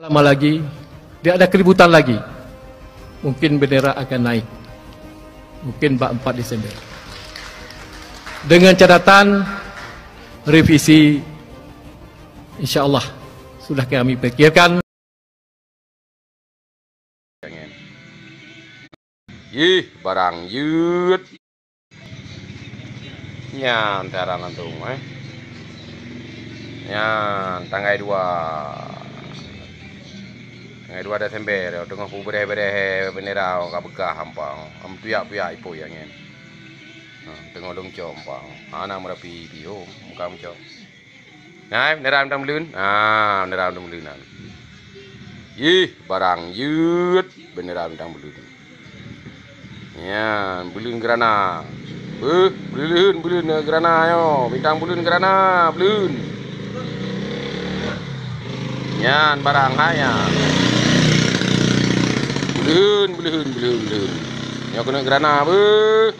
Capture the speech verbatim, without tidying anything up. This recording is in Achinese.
Lama lagi, tidak ada keributan lagi. Mungkin bendera akan naik. Mungkin bak empat Desember. Dengan catatan revisi, insya Allah sudah kami pikirkan. Yih, barang jeuet. Nyan cara langsung, eh. Nyan tanggai dua. Tanggai dua Desember, teungoh peubedeh-bedeh bendera ka beugah ampang. Am tuyak-puyak ipoi angén. Ha, teungoh lôn cok ampang. Hana meurapi pih, oh, muka mencok. Nah, bendera bintang beuleuen. Ah, bendera bintang beuleuen nyan. Yih, barang jeuet bendera bintang beuleuen. Nyan, beuleuen Grana. Beuh, beuleuen, beuleuen Grana nyoe. Bintang beuleuen Grana, beuleuen. Nyan barang hai nyan. Beuleuen, beuleuen, beuleuen, beuleuen. Nyoe keuneuk Grana beuh.